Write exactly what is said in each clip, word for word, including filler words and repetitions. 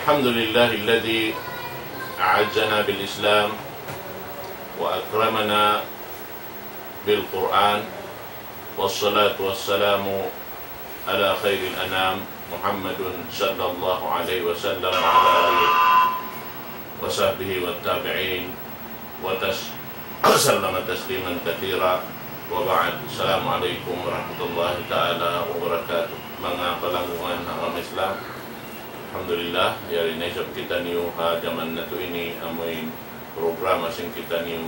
الحمد لله الذي أعزنا بالإسلام وأكرمنا بالقرآن، والصلاة والسلام على خير الأنام محمد صلى الله عليه وسلم وعلى آله وصحبه والتابعين وتس-، وسلم تسليما كثيرا. وبعد، السلام عليكم ورحمة الله تعالى وبركاته. Manga palanggungan ha agama Islam, alhamdulillah, yari na isab kitaniyu ha jaman natu' ini, amuin programa sin kitaniyu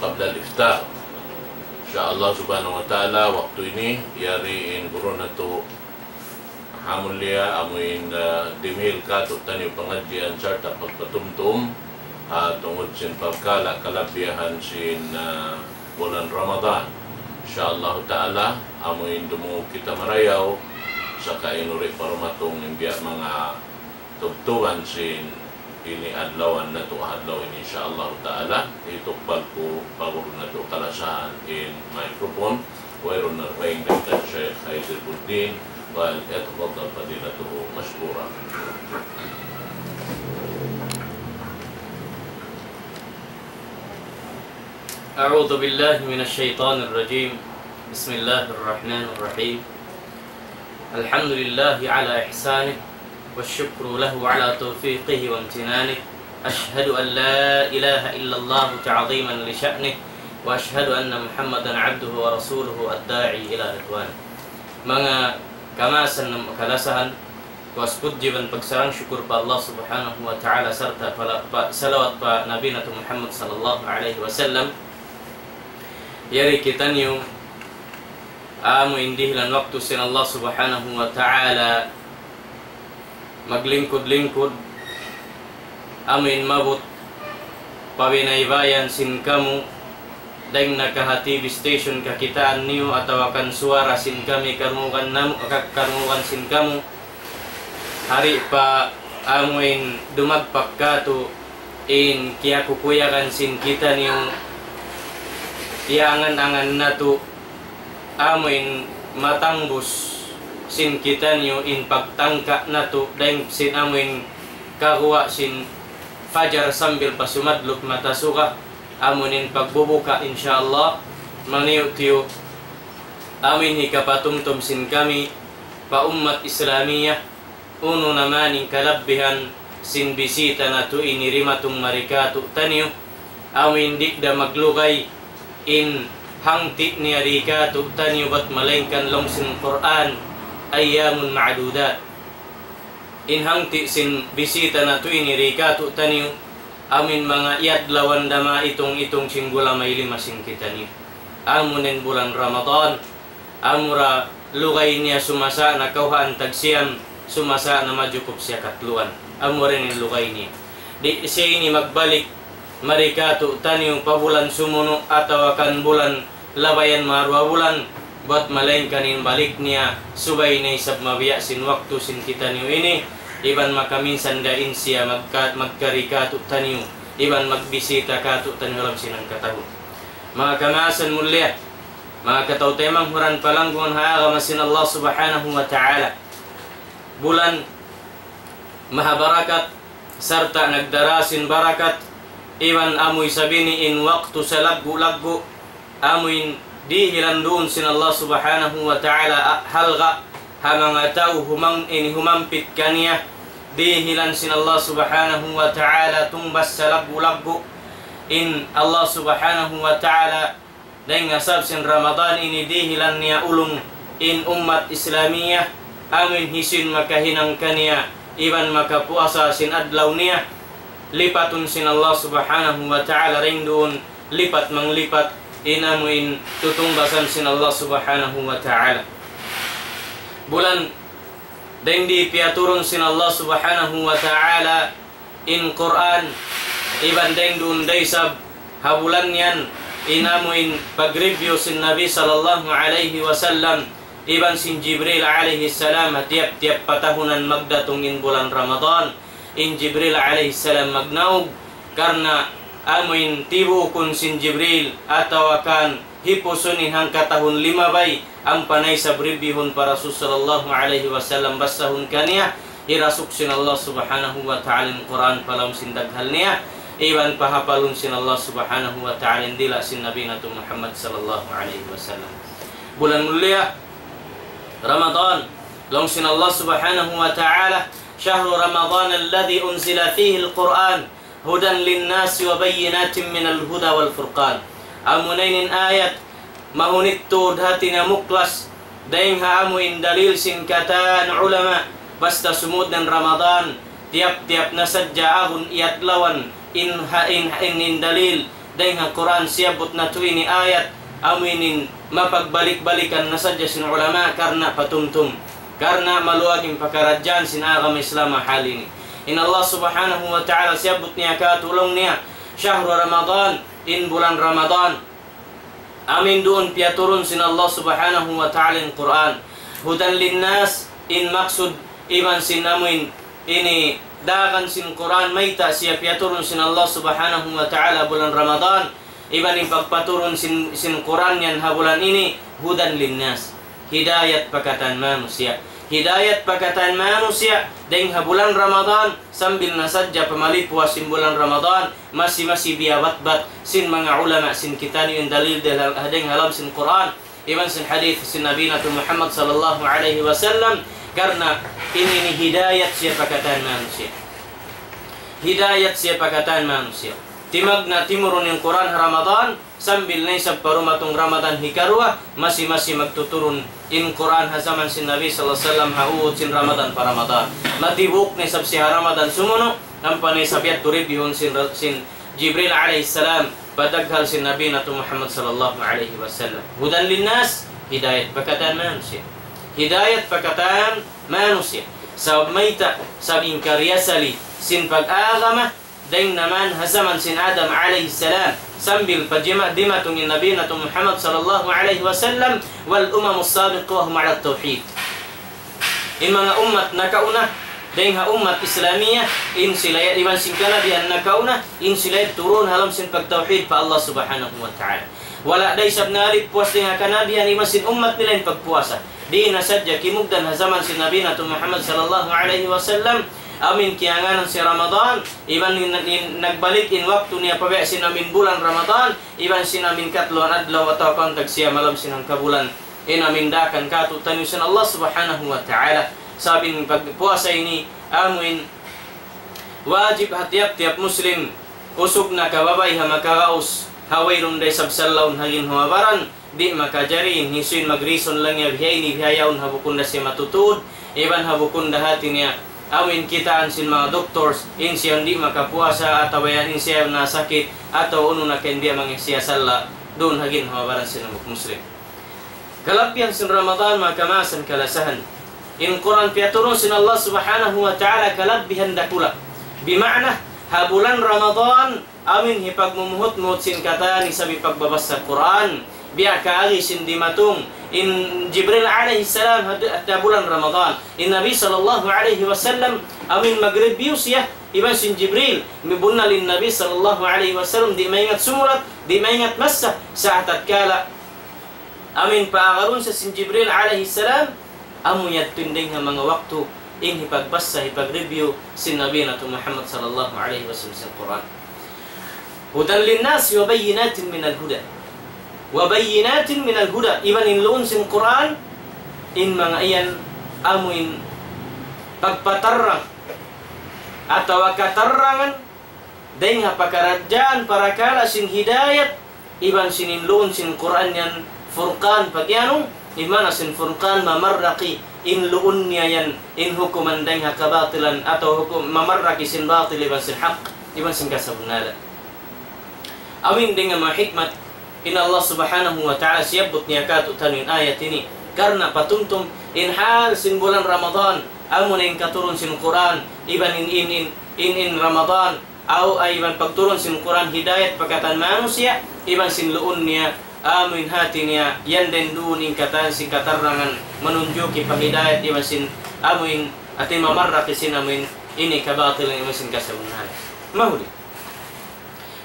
قبل الإفطار. In sha Allah subhanahu wa ta'ala, waktu ini, yari in guru natu' ha mulia, amuin, ah, dimihil kātu'niyu pangadjian sarta' pagpatumtum, ah, tungud sin pagkala kalabihan sin, ah, bulan Ramadan. In sha Allah ta'ala, amuin dumungug kita marayaw, saka in uri pa dumatung in biya' manga tubtuban sin ini adlawan natu' ha adlaw ini, in sha Allah ta'ala, hitukbal ku pa guru natu' kalasahan in microphone, wayruun na pagdahilan kan Sheikh Khayzir Buddin, وليتفضل فضيلته مشكورا. أعوذ بالله من الشيطان الرجيم. بسم الله الرحمن الرحيم. الحمد لله على إحسانه، والشكر له على توفيقه وامتنانه. أشهد أن لا إله إلا الله تعظيما لشأنه، وأشهد أن محمدا عبده ورسوله الداعي إلى رضوانه. Manga kamaasan, kalasahan, puas pudji iban pagsarang-sukul pa Allah Subhanahu wa Ta'ala sarta' pa, pa, salawat pa Nabi natu' Muhammad sallallahu alayhi wasallam. Yari kitaniyu amuin dihilan waktu sin Allah Subhanahu wa Ta'ala maglingkud-lingkud, amuin maabut pa binaybayan sin kamu, dayn na ka ha T V station kakitaan niyu atawa kan suwara sin kami karungugan namu', ka-, karungugan sin kamu, hari pa amuin dumagpak kātu' in kiyakukuyagan sin kitaniyu, iyangan-angan natu', amuin matangbus sin kitaniyu in pagtangka' natu' dayn sin amuin kaguwa' sin fajar sambil pa sumadlup mata suga, amuin pagbubuka, in sha Allah, maniyu-tiyu, amuin hikapatumtum sin kami pa ummat Islamiyah, unu na man in kalabihan sin bisita natu' ini dimatung mari kātu'niyu, amuin di' da maglugay in hangti' niya di kātu'niyu bat malaingkan laung sin Qur'an, أيام معدودات. In hangti' sin bisita natu' ini di kātu'niyu, amuin manga iyadlawan da maitung-itung sin gulamay lima sin kitaniyu. Amuin bulan Ramadan, amura lugay niya sumasa na kawhaan tagsiyam, sumasa na majukup siya katluan. Amura in lugay niya. Di' siya ini magbalik mari kātu'niyu pa bulan sumunu' atawa kan bulan labayan manga duwa bulan, bat malaingkan in balik niya, subay na isab mabiya' sin waktu sin kitaniyu ini, iban makaminsan da in siya magka-, magkari kātu'niyu, iban magbisita kātu'niyu ha lawm sin hangkatahun. Manga kamaasan mulia, manga kataw-taymanghuran palanggungan ha agama sin Allah Subhanahu wa Ta'ala. Bulan mahabarakat, sarta' nagdara sin barakat, iban amu isab ini in waktu salaggu'-laggu', amuin dihilan duun sin Allah Subhanahu wa Ta'ala, a-, halga' ha manga tau humang-, ini humampit kaniya, dihilan sin Allah Subhanahu wa Ta'ala tungbas salaggu'-laggu', in Allah Subhanahu wa Ta'ala, dayn ha sabab sin Ramadan ini dihilan niya ulung in ummat Islamiyah, amuin hisiyu in makahinang kaniya, iban makapuasa sin adlaw niya, lipatun sin Allah Subhanahu wa Ta'ala dayn duun, lipat manglipat, in amuin tutungbasan sin Allah Subhanahu wa Ta'ala. Bulan dayn di piyaturun sin Allah Subhanahu wa Ta'ala in Qur'an, iban dayn duun da isab ha bulan yan, in amuin pag-review sin Nabi sallallahu alayhi wasallam, iban sin Jibril alayhi salam, ha tiyap-tiyap patahunan magdatung in bulan Ramadan, in Jibril alayhi salam magnaug, karna' amuin tibukun sin Jibril, atawa kan hipusun in hangkatahun limabay, ampa na isab reviewhun pa Rasul sallallahu alayhi wasallam, basahun kaniya, hirasuk sin Allah subhanahu wa ta'ala in Qur'an pa lawm sin daghal niya, iban pahapalun sin Allah subhanahu wa ta'ala in dila' sin Nabi natu' Muhammad sallallahu alayhi wasallam. Bulan mulia Ramadan, laung sin Allah subhanahu wa ta'ala, شهر رمضان الذي أنزل فيه القرآن هدى للناس وبينات من الهدى والفرقان. Amuna ini in ayat, mahunit tuud hati niya muklas, dayng ha amu in dalil sin katan ulama, basta sumud na in Ramadan, tiyap-tiyap na sadja agun iyadlawan, in ha-, in, in, in dalil, dayng ha Qur'an siyabbut natu' ini ayat, amu ini in mapagbalik-balikan na sadja sin ulama karna' patumtum, karna' maluag in pakaradjaan sin agama Islam ha hal ini. In Allah subhanahu wa ta'ala siyabbut niya kātu' laung niya, شهر رمضان, in bulan Ramadan. Amu in duun piyaturun sin Allah subhanahu wa ta'ala in Qur'an. هدى للناس, in maksud iban sin amu in ini dagan sin Qur'an, mayta' siya piyaturun sin Allah subhanahu wa ta'ala bulan Ramadan, iban in pagpaturun sin, sin Qur'an yan ha bulan ini, هدى للناس. Hidayat pa katan manusiya'. Hidayat pa katan manusiya', dayng ha bulan Ramadan, sambil na sadja pamalipuas sin bulan Ramadan, masi-masi biyabatbat sin manga ulama sin kitaniyu in dalil dayng ha lawm sin Qur'an, iban sin hadith sin Nabi natu' Muhammad sallallahu alayhi wasallam, karna' ini, ini hidayat siya pa katan manusiya'. Hidayat siya pa katan manusiya'. Timagna' timurun in Qur'an ha Ramadan, sambil na isab pa dumatung Ramadan hikaruwa, masi-masi magtuturun in Qur'an ha jaman sin Nabi sallallahu alayhi wasallam ha uwut sin Ramadan pa Ramadan. Matibuk na isab siya ha Ramadan sumunu', ampa na isab yadtu reviewhun sin, sin Jibril alayhi salam, pa daghal sin Nabi natu' Muhammad sallallahu alayhi wasallam. هدى للناس, hidayat pa katan manusiya'. Hidayat pa katan manusiya'. Sabab mayta', sabab in kariyasali sin pag-agama, dayng naman ha jaman sin Adam alayhi salam, sambil pa jima-, dimatung in Nabi natu' Muhammad sallallahu alayhi wasallam, والأمم السابقة وهم على التوحيد. In manga ummat nakauna, dayng ha ummat Islamiyah, in sila ya-, iban sin kanabihan nakauna, in sila ya turun ha lawm sin pagtawhid pa Allah subhanahu wa ta'ala. Wala' da isab nalipuas dayng ha kanabihan iban sin ummat nila in pagpuasa. Di' na sadja kimugdan ha jaman sin Nabi natu' Muhammad sallallahu alayhi wasallam, amu in kiyangānan sin Ramadan, iban in, in nagbalik in waktu niya pa biya' sin amu in bulan Ramadan, iban sin amu in katluan adlaw atawa pantag siya malam sin hangkabulan. In amu in daakan kātu'niyu sin Allah subhanahu wa ta'ala. Sabab in pagpuasa ini, amu in wajib ha tiyap-tiyap Muslim, usug na kababaiha makagaus, ha wayruun da isab sallaun ha ginhawa-baran, di' makajari, in hisiyu in mag-reason laung niya bihaini bihayaun ha bukun da siya matutuud, iban ha bukun da hati niya, amu in kitaan sin manga doctors, in siya di' makapuasa, atawa yan in siya nasakit, atawa unu na kain biya' manga siya salla, duun ha ginhawa-baran sin hambuuk Muslim. Kalabbihan sin Ramadan, manga kamaasan kalasahan. In Qur'an piyaturun sin Allah subhanahu wa ta'ala kalabbihan dakula'. Bima'na, ha bulan Ramadan, amu in hipagmumuhut-muhut sin katan isab hipagbabassa Qur'an. Biya' kaagi sin dimatung in Jibril alayhi salam ha, ha bulan Ramadan. In Nabi sallallahu alayhi wasallam, amu in mag-review siya, iban sin Jibril, mibunnal in Nabi sallallahu alayhi wasallam, di' maingat sumulat, di' maingat massa, sa' tatkala amu in paagarun sa sin Jibril alayhi salam, amu yadtu in dayng ha manga waktu in hipagbassa, hipag-review sin Nabi natu' Muhammad sallallahu alayhi wasallam sin Qur'an. هدى للناس وبينات من الهدى. وبينات من الهدى. Iban in luun sin Qur'an, in manga yan amu in pagpatarrang atawa katarrangan dayng ha pakaradjaan parakala' sin hidayat, iban sin in luun sin Qur'an yan Furqan, pagiyanun, in maana sin Furqan mamarraki, in luun niya yan, in hukuman dayng ha kabatilan, atawa hukum mamarraki sin batil iban sin hak, iban sin kasabunnalan. Amu in dayng ha manga hikmat, in Allah subhanahu wa ta'ala siyabbut niya kātu'niyu in ayat ini, karna' patumtum, in hal sin bulan Ramadan, amu na in katurun sin Qur'an, iban in, in, in, in, in Ramadan, aw, iban pagturun sin Qur'an hidayat pa katan manusiya', iban sin luun niya, amu in hati niya, yan dayng duun in katan sin katarrangan, manunjuki pa hidayat, iban sin amu in, hati mamarraki sin amu in, ini kabatilan iban sin kasabunnalan. Mahuli.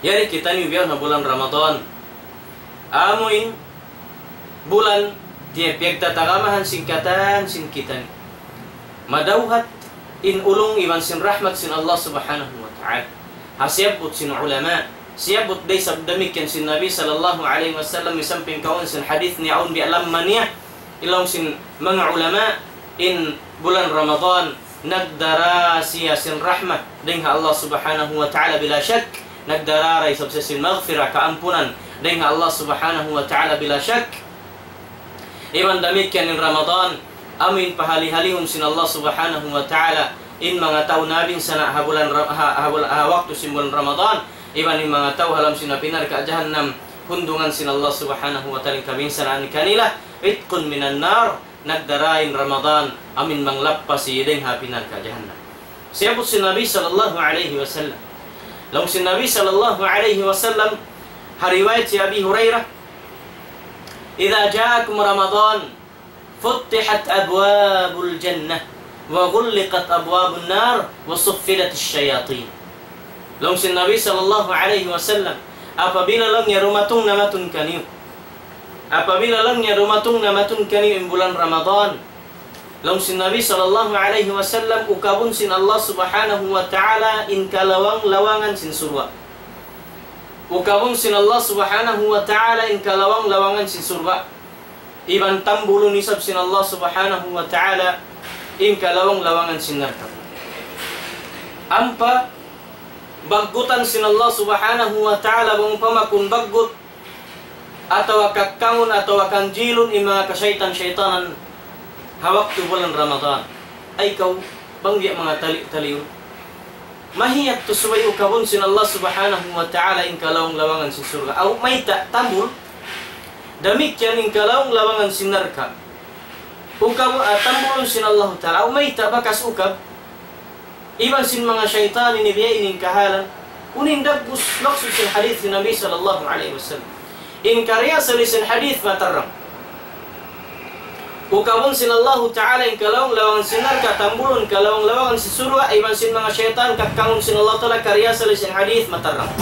Yari kitaniyu bihaun ha bulan Ramadan. Amu in, bulan, di' piyagtatagamahan sin katan sin kitaniyu. Madawhat in ulung iban sin rahmat sin Allah Subhanahu wa Ta'ala. Ha siyabbut sin ulama, siyabbut da isab damikkiyan sin Nabi sallallahu alayhi wasallam, misan piyangkaun sin hadith niya awn biya' lamma niya, laung sin manga ulama, in bulan Ramadan, nagdara siya sin rahmat dayn ha Allah Subhanahu wa Ta'ala bila shak, nagdara isab siya sin maghfirah, kaampunan dayn ha Allah Subhanahu wa Ta'ala bila shak. Iban damikkiyan in Ramadan, amu in pahali-halihun sin Allah Subhanahu wa Ta'ala in manga tau nabinsana' ha bulan Ra-, ha, ha bul-, ha waktu sin bulan Ramadan, iban in manga tau ha lawm sin api narka' jahannam, hundungan sin Allah Subhanahu wa Ta'ala in kabinsanaan kanila, itqun minan nar, nagdara in Ramadan, amu in manglappasi dayn ha api narka' jahannam. Siyabbut sin Nabi sallallahu alayhi wasallam. Laung sin Nabi sallallahu alayhi wasallam, ha riwayat hi Abi Hurairah, إذا جاءكم رمضان فتحت أبواب الجنة وغلقت أبواب النار وصفدت الشياطين. Laung sin Nabi sallallahu alayhi wasallam, apabila laung niya dumatung na matun kaniyu, apabila laung niya dumatung na matun kaniyu in bulan Ramadan, laung sin Nabi sallallahu alayhi wasallam, ukabun sin Allah Subhanahu wa Ta'ala in kalawang-lawangan sin surga'. Ukabun sin Allah Subhanahu wa Ta'ala in kalawang-lawangan sin surga'. Iban tambulun isab sin Allah Subhanahu wa Ta'ala in kalawang-lawangan sin narka'. Ampa baggutan sin Allah Subhanahu wa Ta'ala, bang upama kun baggut atawa kakkangun atawa kanjilun in manga kasaytan-saytanan ha waktu bulan Ramadan. Ay kaw, bang biya' manga tali-taliun. Mahiyat tuud subay ukabun sin Allah Subhanahu wa Ta'ala in kalawang-lawangan sin surga'. Aw mayta' tambul, damikkiyan in kalawang-lawangan sin narka'. Ukab, ah, tambulun sin Allah Ta'ala. Aw mayta' bakas ukab iban sin manga saytan ini biya' ini in kahalan. Unu in dagbus maksud sin hadith sin Nabi sallallahu alayhi wasallam. In karna' asal sin hadith matarang. Ukabun sin Allahu Ta'ala in kalawang-lawangan sin narka', tambulun kalawang-lawangan sin surga', iban sin manga saytan, kakkangun sin Allah Ta'ala, karna' asal sin hadith matarang.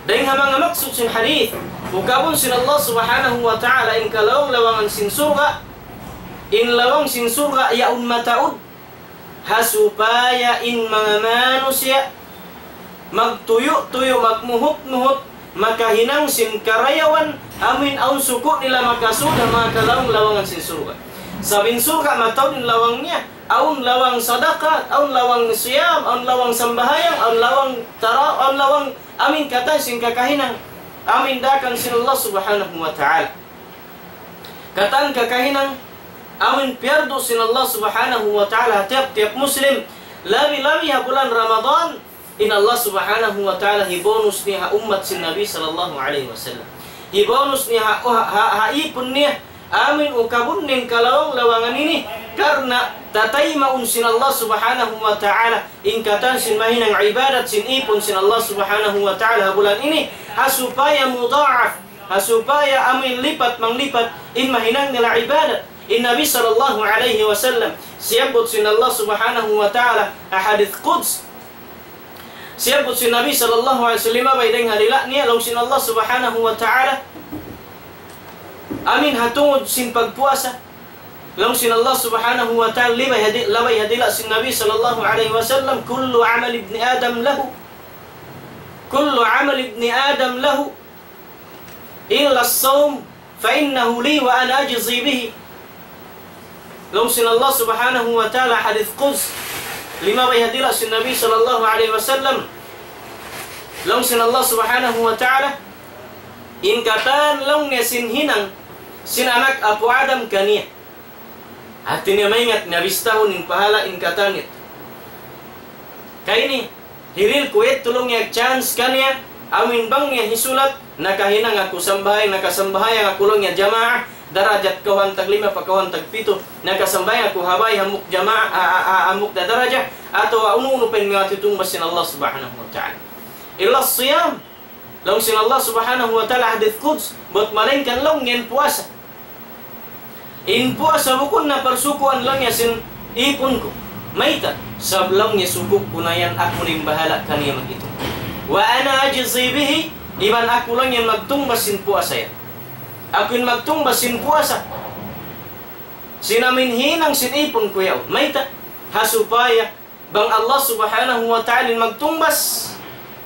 Dayn ha manga maksud sin hadith, ukabun sin Allah Subhanahu wa Ta'ala in kalawang-lawangan sin surga', in lawang sin surga' yaun mataud, ha supaya in manga manusiya' magtuyu'-tuyu', magmuhut-muhut, makahinang sin karayawan, amuin awn suku' nila makasud ha manga kalawang-lawangan sin surga'. Sabab in surga' mataud in lawang niya, awn lawang sadaka, awn lawang siyam, awn lawang sambahayang, awn lawang tara-, awn lawang amuin katan sin kakahinang, amuin daakan sin Allah Subhanahu wa Ta'ala. Katan kakahinang amuin piyardu sin Allah Subhanahu wa Ta'ala ha tiyap-tiyap Muslim, labi-labi ha bulan Ramadan, in Allah Subhanahu wa Ta'ala hibonus niya ha ummat sin Nabi sallallahu alayhi wasallam. Hibonus niya ha, ha, ha, ha ipun niya, amuin ukabun niya in kalawang-lawangan ini, karna' tataymaun sin Allah Subhanahu wa Ta'ala in katan sin mahinang ibadat sin ipun sin Allah Subhanahu wa Ta'ala ha bulan ini, ha supaya mudha'af, ha supaya amuin lipat-manglipat in mahinang nila ibadat. In Nabi sallallahu alayhi wasallam, siyabbut sin Allah Subhanahu wa Ta'ala ha hadith Quds. Siyabbut sin Nabi sallallahu alayhi wasallam, bay dayn ha dila' niya, laung sin Allah Subhanahu wa Ta'ala, amuin ha tungud sin pagpuasa. Laung sin Allah Subhanahu wa Ta'ala, labay ha di-, labay ha dila' sin Nabi sallallahu alayhi wasallam, كل عمل ابن آدم له، كل عمل ابن آدم له إلا الصوم فإنه لي وأنا أجزي به. Laung sin Allah Subhanahu wa Ta'ala, hadith Quds, limabay ha dila' sin Nabi sallallahu alayhi wasallam. Laung sin Allah Subhanahu wa Ta'ala, in katan laung niya sin hinang sin anak apu' Adam kaniya. Hati niya maingat niya bistahun in pahala in katan niya. Kay ini, hiril ku yadtu laung niya chance kaniya, amuin bang niya hisulat, nakahinang aku sambahayang, nakasambahayang aku laung niya jamaa, darajat kawhaan tag lima pa kawhaan tag pitu, nakasambahayang aku ha bāy hambuuk jamaa, a, a, a, hambuuk da darajat, atawa unu-unu pa in manga titungbas sin Allah Subhanahu wa Ta'ala. إلا الصيام. Laung sin Allah Subhanahu wa Ta'ala hadith Quds, bat malaingkan laung niya in puasa. In puasa bukun na parsukuan laung niya sin ipun ku. Mayta'? Sabab laung niya suku' ku na yan, aku na in bahala' kaniya mag-itung. وأنا أجزي به, iban aku laung niya magtungbas sin puasa yan. Aku in magtungbas sin puasa sin amin hinang sin ipun ku yaun. Mayta'? Ha supaya bang Allah Subhanahu wa Ta'ala in magtungbas,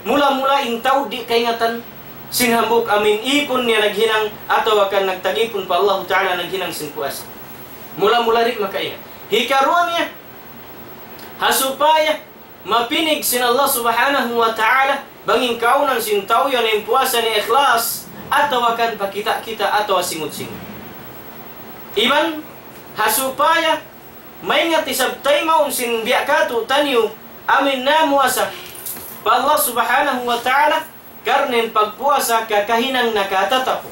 mula-mula in tau di' kaingatan sin hambuuk amin ipun niya naghinang atawa kan nagtag-ipun pa Allah Ta'ala naghinang sin puasa. Mula-mula di' makaingat. Hikaruwa niya, ha supaya mapinig sin Allah Subhanahu wa Ta'ala bang in kaawnan sin tau yan in puasa niya ikhlas atawa kan pa kita'-kita' atawa singut-singut. Iban ha supaya maingat isab taymaun sin biya' katu' taniyu amin namuasa pa Allah Subhanahu wa Ta'ala, karna' in pagpuasa kakahinang nakatatapuk.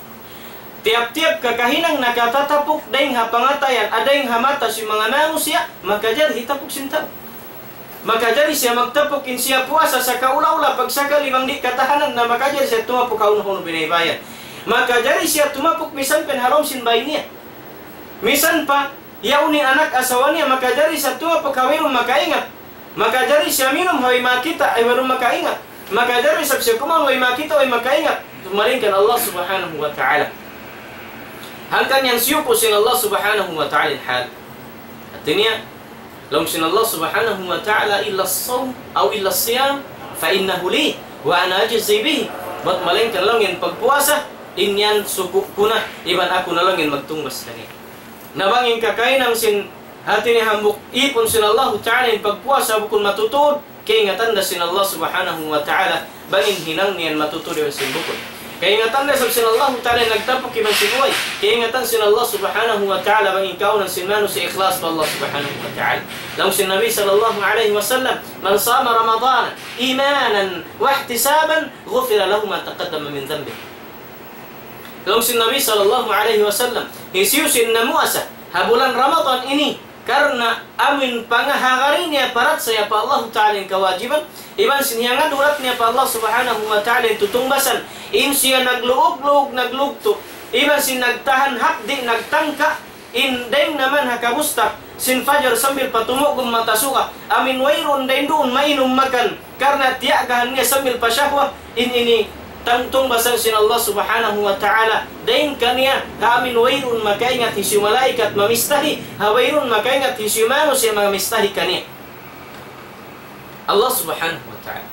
Tiyap-tiyap kakahinang nakatatapuk, dayng ha pangatayan, a dayng ha mata sin manga manusiya', makajari hitapuk sin tau. Makajari siya magtapuk in siya puasa sakaula-ula, pagsakali bang di' katahanan na makajari siya tumapuk ha unu-unu binaybayan. Makajari siya tumapuk misan pa in ha lawm sin bay niya. Misan pa yaun in anak asawa niya, makajari siya tumapuk ha wayruun makaingat. Makajari siya minum ha way makakita', ay wayruun makaingat. Makajari isab siya kumaun ha way makakita', way makaingat. Malayngkan Allah Subhanahu wa Ta'ala. Hangkan yan siyuku' sin Allah Subhanahu wa Ta'ala in hal. Hati niya, laung sin Allah Subhanahu wa Ta'ala, إلا الصوم أو إلا الصيام فإنه لي وأنا أجزي به. Bat malayngkan laung in pagpuasa, in yan suku' ku na, iban aku na laung in magtungbas kaniya. Na bang in kakahinang sin hati niya hambuuk ipun sin Allahu Ta'ala in pagpuasa bukun matutud, kaingatan da sin Allah Subhanahu wa Ta'ala bang in hinang niya yan matutud iban sin bukun. Kaingatan da isab sin Allahu Ta'ala in nagtapuk iban sin way. Kaingatan sin Allah Subhanahu wa Ta'ala bang in kaawnan sin manusiya' ikhlas pa Allah Subhanahu wa Ta'ala. Laung sin Nabi sallallahu alayhi wasallam, من صام رمضان إيمانا واحتسابا غفر له ما تقدم من ذنبه. Laung sin Nabi sallallahu alayhi wasallam, hisiyu-siyu in namuasa ha bulan Ramadan ini, karna' amu in pangahagari niya parachaya pa Allahu Ta'ala in kawajiban, iban sin hiyangad hulat niya pa Allah Subhanahu wa Ta'ala in tutungbasan, in siya nagluug-luug, naglugtu', iban sin nagtahan hapdi', nagtangka', in dayng naman ha kabustak sin fajar sambil pa tumugum mata suga, amu in wayruun dayn duun mainum makan, karna' tiyagahan niya sambil pa shahwa, in ini tang-, tungbasan sin Allah Subhanahu wa Ta'ala dayng kaniya, ha amu in wayruun makaingat hisiyu malaikat mamistahi, ha wayruun makaingat hisiyu manusiya' mamistahi kaniya. Allah Subhanahu wa Ta'ala.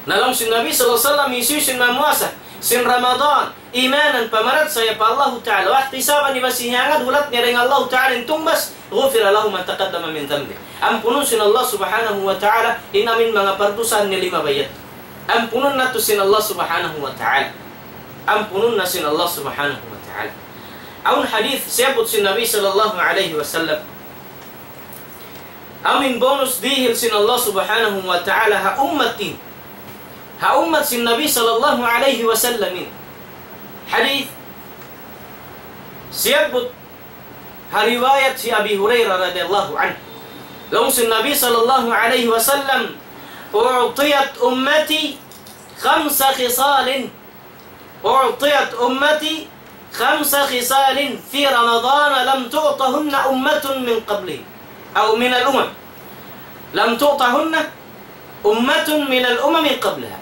Na laung sin Nabi sallallahu alayhi wasallam, hisiyu-siyu in mamuasa sin Ramadan, imanan, pamarachaya pa Allahu Ta'ala, واحتسابا, iban sin hiyangad hulat niya dayn ha Allahu Ta'ala in tungbas, غفر له ما تقدم من ذنبه. Ampunun sin Allah Subhanahu wa Ta'ala in amu in manga pardusahan niya limabayad. Ampunun na tuud sin Allah Subhanahu wa Ta'ala. Ampunun na sin Allah Subhanahu wa Ta'ala. Awn hadith siyabbut sin Nabi sallallahu alayhi wasallam. Amu in bonus dihil sin Allah Subhanahu wa Ta'ala ha ummat in. Ha ummat sin Nabi sallallahu alayhi wasallam in. Hadith siyabbut ha riwayat hi Abi Hurairah radiyallahu anhu. Laung sin Nabi sallallahu alayhi wasallam, أعطيت أمتي خمس خصال أعطيت أمتي خمس خصال في رمضان لم تعطهن أمة من قبلي أو من الأمم. لم تعطهن أمة من الأمم قبلها.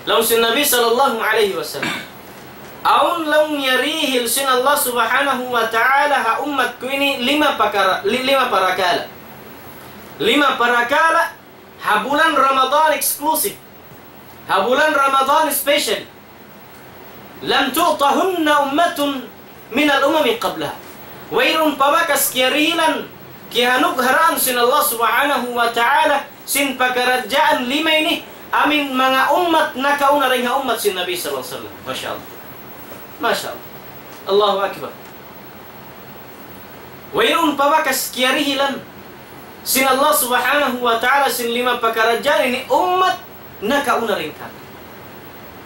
Laung sin Nabi sallallahu alayhi wasallam. Awn laung niya dihil sin Allah Subhanahu wa Ta'ala ha ummat ku ini lima pakara-, li-, lima parakala'. Lima parakala' ha bulan Ramadan exclusive. Ha bulan Ramadan special. لم تعطهن أمة من الأمم قبلها. Wayruun pa bakas kiyarihilan, kiyanugharaan sin Allah Subhanahu wa Ta'ala, sin pakaradjaan lima ini, amu in manga ummat nakauna dayn ha ummat sin Nabi sallallahu alayhi wasallam. Masha Allah. Masha Allah. Allahu Akbar. Wayruun pa bakas kiyarihilan sin Allah Subhanahu wa Ta'ala sin lima pakaradjaan ini ummat nakauna dayn kātu'.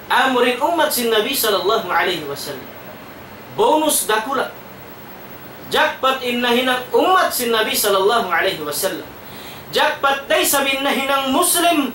Amura in ummat sin Nabi sallallahu alayhi wasallam. Bonus dakula'. Jackpot in nahinang ummat sin Nabi sallallahu alayhi wasallam. Jackpot da isab in nahinang Muslim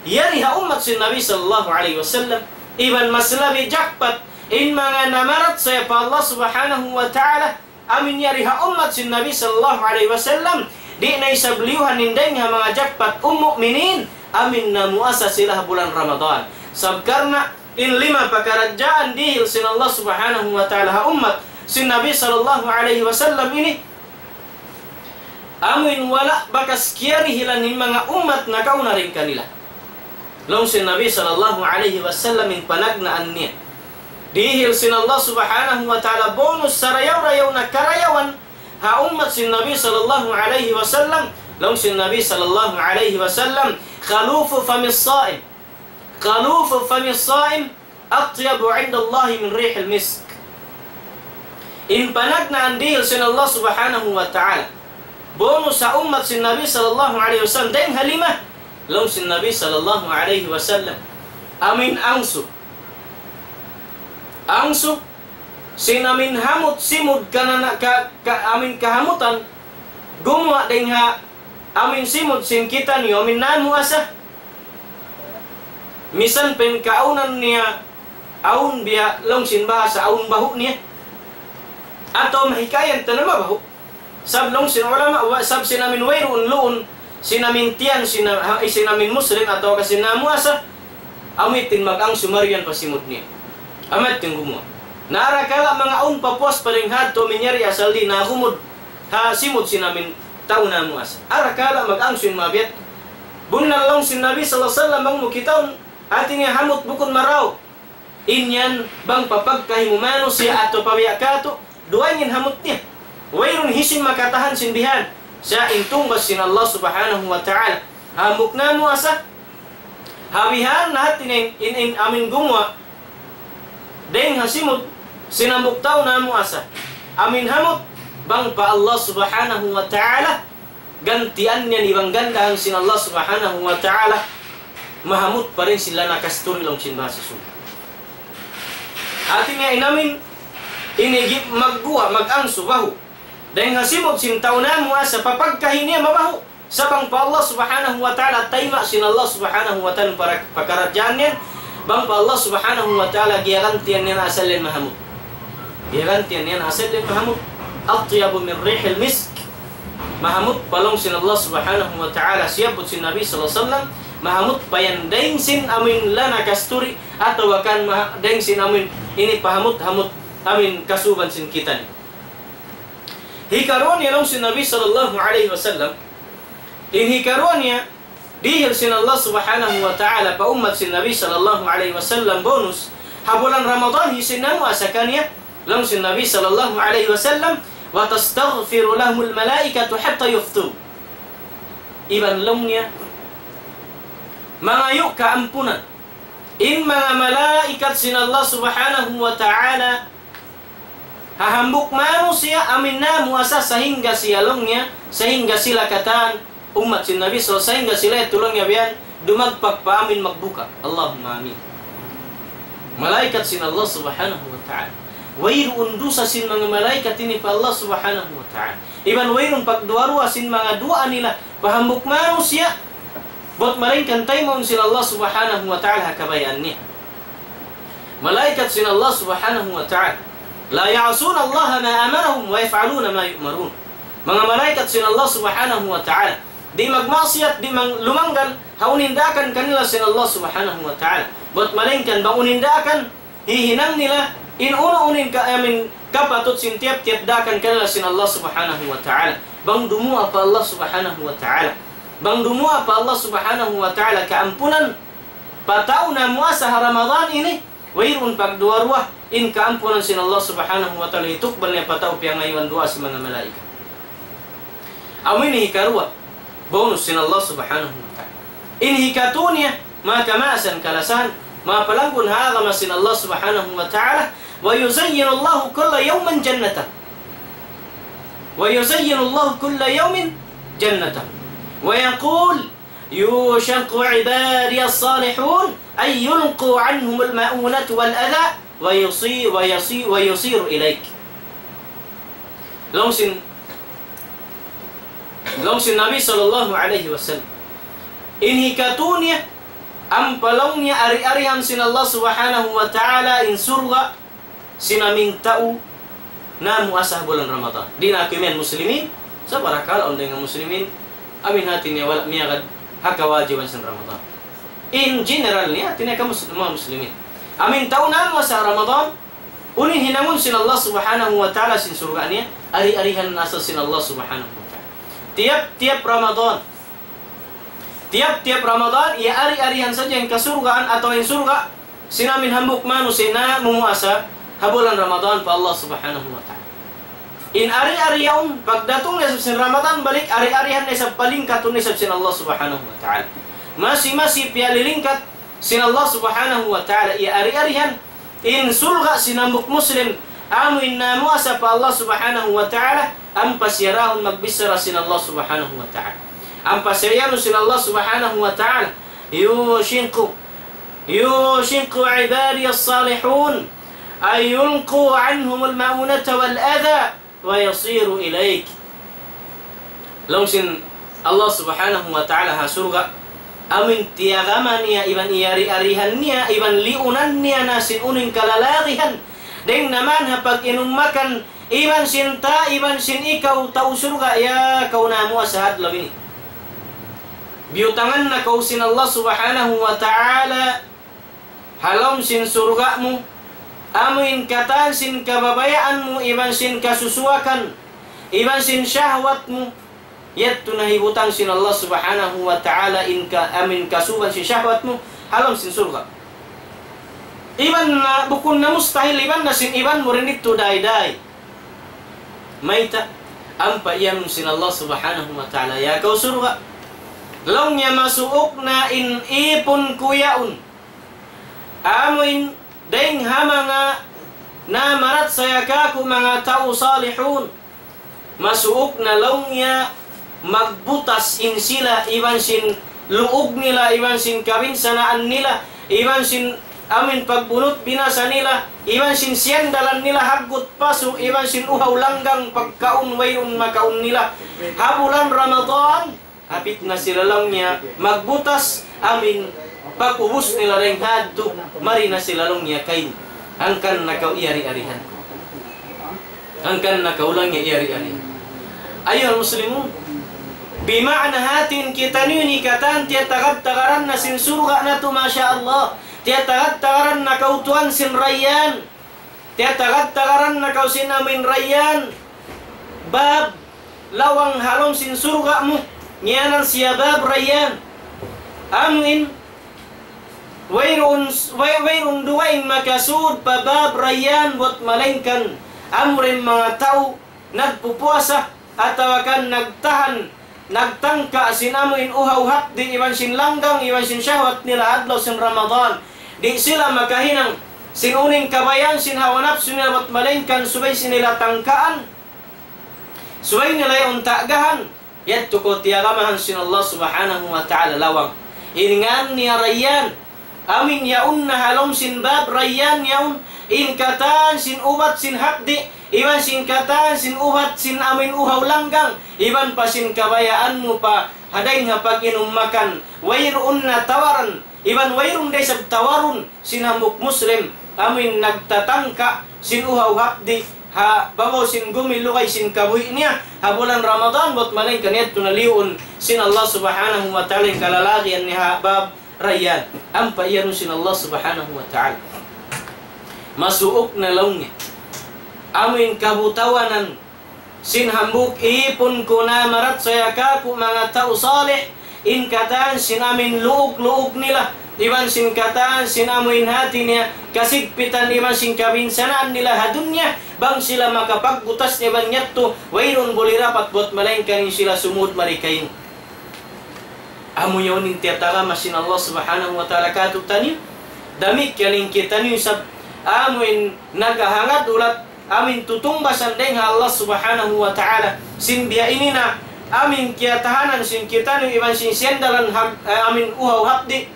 yari ha ummat sin Nabi sallallahu alayhi wasallam. Iban mas labi jackpot in manga namarachaya pa Allah Subhanahu wa Ta'ala, amu in yari ha ummat sin Nabi sallallahu alayhi wasallam, di' na isab liyuhan in dayng ha manga jackpot um mu'minin, amu in namuasa sila ha bulan Ramadan. Sabab karna' In lima pakaradjaan dihil sin Allah Subhanahu wa Ta'ala ha ummat sin Nabi sallallahu alayhi wasallam ini, amuin wala' bakas kiyarihilan in manga ummat nakauna dayn kanila. Laung sin Nabi sallallahu alayhi wasallam in panagnaan niya. Dihil sin Allah Subhanahu wa Ta'ala bonus sarayaw-rayaw na karayawan ha ummat sin Nabi sallallahu alayhi wasallam. Laung sin Nabi sallallahu alayhi wasallam, خلوف فم الصائم، خلوف فم الصائم أطيب عند الله من ريح المسك. In panagnaan dihil sin Allah Subhanahu wa Ta'ala bonus ha ummat sin Nabi sallallahu alayhi wasallam dayn ha lima. Laung sin Nabi sallallahu alayhi wasallam, amuin angsu, angsu sin amuin hamut simud kanana-, ka, ka, amuin kahamutan gumuwa' dayn ha amuin simud sin kitaniyu amuin namuasa. Misan pa in kaawnan niya awn biya' laung sin bahasa awn bahu' niya. Atawa mahikayan ta na mabahu'. Sab laung sin ulama, wa-, sab sin amuin wayruun luun sin amuin tiyan sin, ha, sin amuin Muslim atawa ka sin namuasa, amu yadtu in mag-angsu mariyan pa simud niya. Amu yadtu in gumuwa'. Na arakala' manga awn pa puas pa dayn ha yadtu amuin yari asal di' na humud ha simud sin amuin tau namuasa. Arakala' mag-angsu in mabiya' yadtu. Bunnal laung sin Nabi sallallahu alayhi wasallam bang mu kitaun, hati niya hamut bukun marayaw. In yan bang pa pagkahi mu manusiya' atawa pa biya' katu', dugaing in hamut niya. Wayruun hisiyu in makatahan sin bihan. Sa' in tungbas sin Allah Subhanahu wa Ta'ala. Hambuuk namuasa. Ha bihan na hati niya in, in, in amuin gumuwa' dayn ha simud sin hambuuk tau namuasa. Amuin hamut bang pa Allah Subhanahu wa Ta'ala gantian niya iban gandahan sin Allah Subhanahu wa Ta'ala, mahamut pa dayn sin lana kasturi laung sin bahasa Sug. Hati niya in amuin ini gi-, magguwa', mag-angsu bahu'. Dayn ha simud sin tau namuasa pa pagkahi niya mabahu'. Sa' bang pa Allah Subhanahu wa Ta'ala tayma' sin Allah Subhanahu wa Ta'ala para-, pakaradjaan niya, bang pa Allah Subhanahu wa Ta'ala giyagantian niya na asal yan mahamut. Giyagantian niya na asal yan mahamut. أطيب من ريح المسك. Mahamut pa laung sin Allah Subhanahu wa Ta'ala, siyabbut sin Nabi sallallahu alayhi wasallam, mahamut pa yan dayn sin amuin lana kasturi, atawa kan maha-, dayn sin amuin ini pahamut-hamut amuin kasuban sin kitaniyu. Hikaruwa niya laung sin Nabi sallallahu alayhi wasallam, in hikaruwa niya, dihil sin Allah Subhanahu wa Ta'ala pa ummat sin Nabi sallallahu alayhi wasallam bonus ha bulan Ramadan hi sin namuasa kaniya, laung sin Nabi sallallahu alayhi wasallam, وتستغفر لهم الملائكة حتى يفطروا. Iban laung niya, mangayu' kaampunan in manga malaikat sin Allah Subhanahu wa Ta'ala ha hambuuk manusiya' amuin namuasa sahingga siya laung niya, sahingga sila katan ummat sin Nabi sallallahu alayhi wasallam, sahingga sila yadtu laung niya biya' yan dumagpak pa amuin magbuka. Allahumma amin. Malaikat sin Allah Subhanahu wa Ta'ala. Wayruun dusa sin manga malaikat ini pa Allah Subhanahu wa Ta'ala. Iban wayruun pagduwa-ruwa sin manga duwaa nila pa hambuuk manusiya'. Bat malaingkan taymaun sin Allah Subhanahu wa Ta'ala ha kabayaan niya. Malaikat sin Allah Subhanahu wa Ta'ala. لا يعصون الله ما أمرهم ويفعلون ما يؤمرون. Manga malaikat sin Allah Subhanahu wa Ta'ala. Di' magmaksiyat, di' mang-, lumanggal ha unu in daakan kanila sin Allah Subhanahu wa Ta'ala. Bat malaingkan bang unu in daakan hihinang nila, in unu-unu in ka-, amuin kapatut sin tiyap-tiyap daakan kanila sin Allah Subhanahu wa Ta'ala. Bang dumuwaa pa Allah Subhanahu wa Ta'ala. Bang dumuwaa pa Allah Subhanahu wa Ta'ala kaampunan pa tau namuasa ha Ramadan ini, wayruun pagduwa-ruwa, in kaampunan sin Allah Subhanahu wa Ta'ala hitukbal niya pa tau piyangayuan duwaa sin manga malaikat. Amu ini hikaruwa, bonus sin Allah Subhanahu wa Ta'ala. In hikatu niya, manga kamaasan kalasahan, manga palanggun ha agama sin Allah Subhanahu wa Ta'ala, ويزين الله كل يوم جنته. ويزين الله كل يوم جنته. ويقول: يوشك عبادي الصالحون أن يلقوا عنهم المؤونة والأذى ويصي-، ويصي-، ويصيروا إليك. Laung sin, laung sin Nabi sallallahu alayhi wasallam. In hikatu niya, ampa laung niya ari-arihan sin Allah Subhanahu wa Ta'ala in surga' sin amuin tau namuasa ha bulan Ramadan. Di' na aku imiyan muslimin, sa' barakala' awn dayn ha muslimin, amuin hati niya wala' miyagad ha kawajiban sin Ramadan. In general niya, hati niya kamu mus-, manga muslimin. Amin tau namuasa Ramadan, unu in hinangun sin Allah Subhanahu wa Ta'ala sin surga' niya, ari-arihan na sa sin Allah Subhanahu wa Ta'ala. Tiyap-tiyap Ramadan, tiyap-tiyap Ramadan, iya ari-arihan sadja in kasurgaan atawa in surga', sin amin hambuuk manusiya' namumuasa ha bulan Ramadan pa Allah Subhanahu wa Ta'ala. In ari-ari yaun, pagdatung na isab sin Ramadan balik, ari-arihan na isab, palingkatun na isab sin Allah Subhanahu wa Ta'ala. Masi-masi piyalilingkat sin Allah Subhanahu wa Ta'ala, iya ari-arihan, in surga' sin hambuuk Muslim, amu in namuasa pa Allah Subhanahu wa Ta'ala, ampa siya dahun magbichara sin Allah Subhanahu wa Ta'ala. Ampa siya iyanun sin Allah Subhanahu wa Ta'ala, يوشك، يوشك عبادي الصالحون أن يلقوا عنهم المؤونة والأذى ويصيروا إليك. Laung sin Allah Subhanahu wa Ta'ala ha surga', amin tiyagama niya, iban iyari-arihan niya, iban liunan niya na sin unu in kalalagihan. Dayng naman ha pag-inum makan, iban sin ta, iban sin ikaw tau surga', ya kaw namuasa ha adlaw ini. Biyutangan na kaw sin Allah Subhanahu wa Ta'ala ha lawm sin surga' mu, amu in katan sin kababayaan mu, iban sin kasusuwakan, iban sin shahwat mu, yadtu na hibutang sin Allah Subhanahu wa Ta'ala in ka, amu in kasuban sin shahwat mu, ha lawm sin surga'. Iban na, bukun na mustahil, iban na sin iban mu rin itu dayn-dayn. Mayta', ampa iyanun sin Allah Subhanahu wa Ta'ala, ya kaw surga'. Laung niya masuuk na in ipun ku yaun. Amu in dayng ha manga namarachaya kāku' manga tau salihun. Masuuk na laung niya magbutas in sila iban sin luug nila, iban sin kabinsanaan nila, iban sin amin pagbunut binasa nila, iban sin siyandalan nila haggut pasu', iban sin uhaw langgang pagkaun wayruun makaun nila. Ha bulan Ramadan, hapit na sila laung niya magbutas, amin pag-ubus nila dayng ha yadtu, mari na sila laung niya kain. Hangkan na kaw iyari-arihan ku. Hangkan na kaw laung niya iyari-arihan. Ayuhal muslimun. Bima'na hati in kitaniyu ini katan tiyatagad-tagaran na sin surga' natu', masha Allah. Tiyatagad-tagaran na kaw tuwan sin Rayyan. Tiyatagad-tagaran na kaw sin amin Rayyan. Bab lawang ha lawm sin surga' mu, ngiyanan siya bab Rayyan. Amu in, wayruun, way-, wayruun dugaing makasud pa bab Rayyan buwat malaingkan amura in manga tau nagpupuasa, atawa kan nagtahan, nagtangka sin amu in uhaw hapdi' iban sin langgang, iban sin shahwat nila adlaw sin Ramadan. Di' sila makahinang sin unu in kabayaan sin hawa napsu nila buwat malaingkan subay sin nila tangkaan. Subay nila yaun tagahan, yadtu kaw tiyagamahan sin Allah Subhanahu wa Ta'ala lawang. In ngan niya Rayyan, amin yaun na ha lawm sin bab Rayyan yaun, in katan sin ubat sin hapdi', iban sin katan sin ubat sin amin uhaw langgang, iban pa sin kabayaan mu pa ha dayng ha pag-inum makan, wayruun na tawaran, iban wayruun da isab tawarun sin hambuuk Muslim, amu in nagtatangka sin uhaw hapdi' ha babaw sin gumi lugay sin kabuhi' niya ha bulan Ramadan, buwat malaingkan yadtu na liyuun sin Allah Subhanahu wa Ta'ala in kalalagihan niya ha bab Rayyan. Ampa iyanun sin Allah Subhanahu wa Ta'ala. Masuuk na laung niya. Amu in kabutawanan sin hambuuk ipun ku namarachaya kāku' manga tau salih, in katan sin amin luug-luug nila, iban sin katan sin amu in hati niya kasigpitan, iban sin kabinsanaan nila ha dunya, bang sila makapagbutas niya bang yadtu, wayruun buli dapat buwat malaingkan in sila sumud mari kain. Amu yaun in tiyatagama sin Allah Subhanahu wa Ta'ala kātu'niyu. Damikkiyan in kitaniyu isab amu in nakahangad ulat amin tutungbasan dayng ha Allah Subhanahu wa Ta'ala. Sin biya' ini na amin kiyatahanan sin kitaniyu iban sin siyandalan hap-, eh, amin uhaw hapdi'.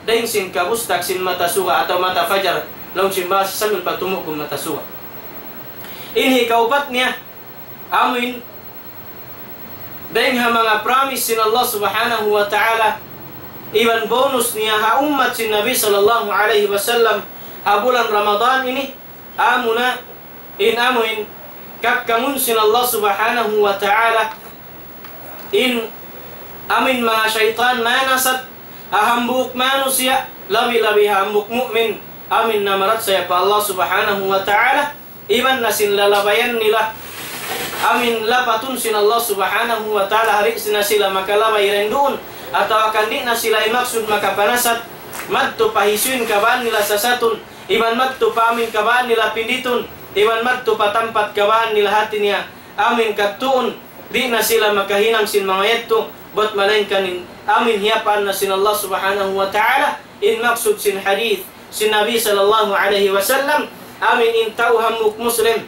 Dayng sin kabustag sin mata suga atawa mata fajar. Laung sin bahasa Melayu pa tumugun mata suga. In hikaupat niya, amin dayng ha manga promise sin Allah Subhanahu wa Ta'ala, iban bonus niya ha ummat sin Nabi sallallahu alayhi wasallam ha bulan Ramadan ini, amuna in amuin kakkamun sin Allah Subhanahu wa Ta'ala, in amuin manga saytan manasat ha hambuuk manusiya', labi-labi ha hambuuk mu'min, amuin namarachaya pa Allah Subhanahu wa Ta'ala, iban na sin lalabayan nila, amuin lapatun sin Allah Subhanahu wa Ta'ala, di' na sila makalabay dayn duun, atawa kan di' na sila himaksud makapanasat, madtu pa hisiyu in kabaan nila sasatun, iban madtu pa amuin kabaan nila pinditun, iban madtu pa tampat kabaan nila hati niya, amuin kadtuun, di' na sila makahinang sin manga yadtu, bat malaingkan in amuin hiyapaan na sin Allah Subhanahu wa Ta'ala, in maksud sin hadith sin Nabi sallallahu alayhi wasallam, amuin in tau hambuuk Muslim,